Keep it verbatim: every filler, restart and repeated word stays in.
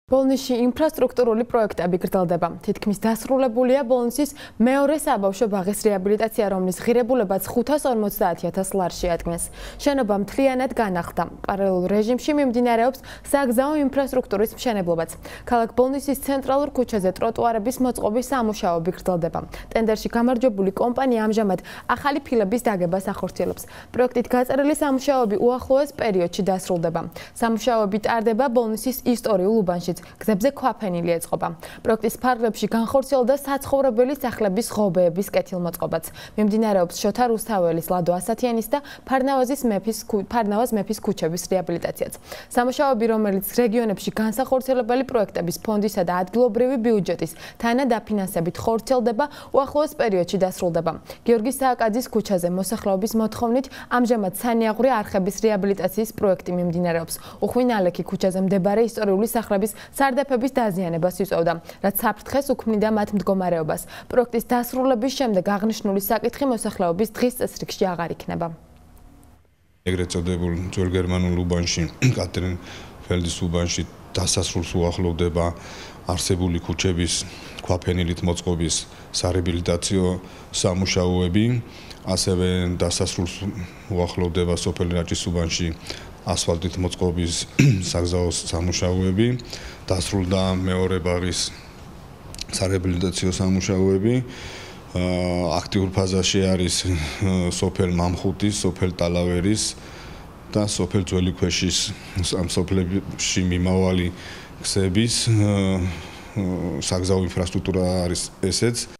ბოლნისში ინფრასტრუქტურული პროექტები გრძელდება. თითქმის დასრულებულია ბოლნისის მეორე საბავშვო ბაღის რეაბილიტაცია, რომლის ღირებულებაც ხუთას ორმოცდაათი ათას ლარში ადგენს. შენობა მთლიანად განახლდა. პარალელურ რეჟიმში მიმდინარეობს საგზაო ინფრასტრუქტურის მშენებლობაც. ქალაქ ბოლნისის ცენტრალურ ქუჩაზე ტროტუარების მოწყობის სამუშაოები გრძელდება. ტენდერში გამარჯვებული კომპანია ამჟამად ახალი ფილების დაგებას ახორციელებს. პროექტით გაწერილი სამუშაოები უახლოეს პერიოდში დასრულდება. სამუშაოები ტარდება ბოლნისის ისტორიულ უბანში. გზებზე ქვაფენილი ეწყობა. პროექტის ფარგლებში განხორციელდა საცხოვრებელი სახლების ღობეების კეთილმოწყობაც. მიმდინარეობს შოთა რუსთაველის, ლადო ასათიანის და ფარნავაზის მეფის ფარნავაზ მეფის ქუჩების რეაბილიტაციაც. სამუშაოები, რომელიც რეგიონებში განსახორციელებელი პროექტების ფონდისა და ადგილობრივი ბიუჯეტის თანადაფინანსებით ხორციელდება, უახლოეს პერიოდში დასრულდება. გიორგი სააკაძის ქუჩაზე მოსახლეობის მოთხოვნით ამჟამად სანიაღვრე არხების რეაბილიტაციის პროექტი მიმდინარეობს. უხვინალექი ქუჩაზე მდებარე ისტორიული სახლების სარდაფების დაზიანებას იწვევდა, რაც საფრთხეს უქმნიდა მათ მდგომარეობას. პროექტის დასრულების შემდეგ აღნიშნული საკითხი მოსახლეობის დღის წესრიგში აღარ იქნება. ეგრეთ წოდებულ ძველ გერმანულ უბანში, კატრინფელდის უბანში დასასრულს უახლოვდება არსებული ქუჩების ქვაფენილით მოწყობის სარეაბილიტაციო სამუშაოები, ასევე დასასრულს უახლოვდება სოფელ რაჭის უბანში ასფალტით მოწყობის საგზაო სამუშაოები, დასრულდა მეორე ბაღის სარეაბილიტაციო სამუშაოები. აქტიურ ფაზაში არის სოფელ მამხუთის, სოფელ ტალავერის და სოფელ ძველი ქვეშის ამ სოფლებში მიმავალი გზების საგზაო ინფრასტრუქტურა არის ესეც.